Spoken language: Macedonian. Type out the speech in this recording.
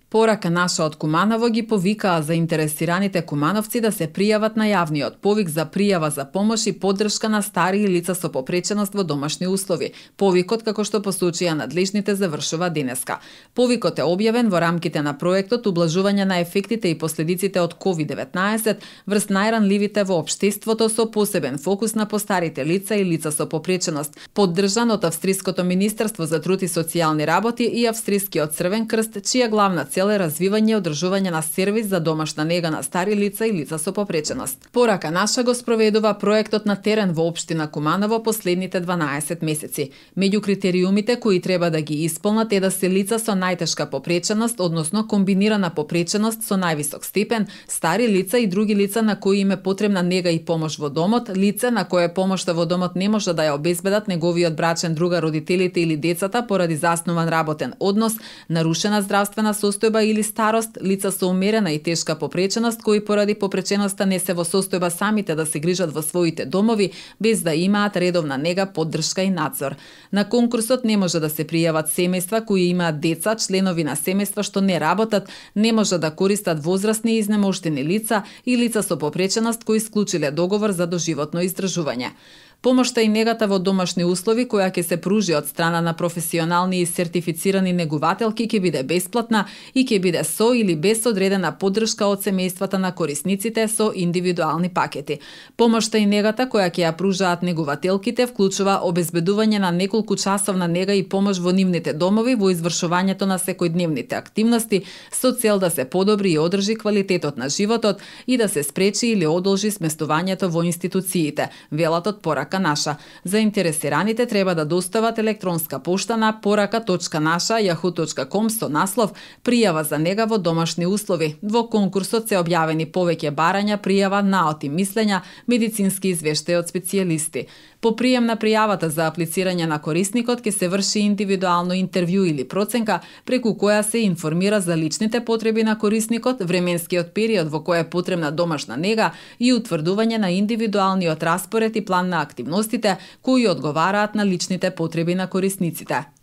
Порака наша од Куманово ги повикаа заинтересираните кумановци да се пријават на јавниот повик за пријава за помош и поддршка на стари лица со попреченост во домашни услови. Повикот, како што посочија надлежните, завршува денеска. Повикот е објавен во рамките на проектот Ублажување на ефектите и последиците од COVID-19 врз најранливите во општеството со посебен фокус на постарите лица и лица со попреченост, поддржан од Австриското министерство за труд и социјални работи и Австрискиот Црвен крст, чија главна цел е развивање и одржување на сервис за домашна нега на стари лица и лица со попреченост. Порака наша го спроведува проектот на терен во општина Куманово последните 12 месеци. Меѓу критериумите кои треба да ги исполнат е да се лица со најтешка попреченост, односно комбинирана попреченост со највисок степен, стари лица и други лица на кои им е потребна нега и помош во домот, лице на кое помошта во домот не може да ја обезбедат неговиот брачен другар, родителите или децата поради заснуван работен однос, нарушена здравствена состојба или старост, лица со умерена и тешка попреченост кои поради попреченоста не се во состојба самите да се грижат во своите домови без да имаат редовна нега, поддршка и надзор. На конкурсот не може да се пријават семејства кои имаат деца, членови на семејства што не работат, не може да користат возрастни и изнемоштени лица и лица со попреченост кои склучиле договор за доживотно издржување. Помошта и негата во домашни услови која ќе се пружи од страна на професионални и сертифицирани негувателки ќе биде бесплатна и ќе биде со или без одредена поддршка од семејствата на корисниците со индивидуални пакети. Помошта и негата која ќе ја пружаат негувателките вклучува обезбедување на неколку часовна нега и помош во нивните домови во извршувањето на секојдневните активности со цел да се подобри и одржи квалитетот на животот и да се спречи или одолжи сместувањето во институциите, велат од Порака наша. Заинтересираните треба да достават електронска пошта на poraka.nasha@yahoo.com со наслов Пријава за нега во домашни услови. Во конкурсот се објавени повеќе барања, пријава, наоти мислења, медицински извештаи од специјалисти. По прием на пријавата за аплицирање на корисникот ќе се врши индивидуално интервју или проценка преку која се информира за личните потреби на корисникот, временскиот период во кој е потребна домашна нега и утврдување на индивидуалниот распоред и план на активностите кои одговараат на личните потреби на корисниците.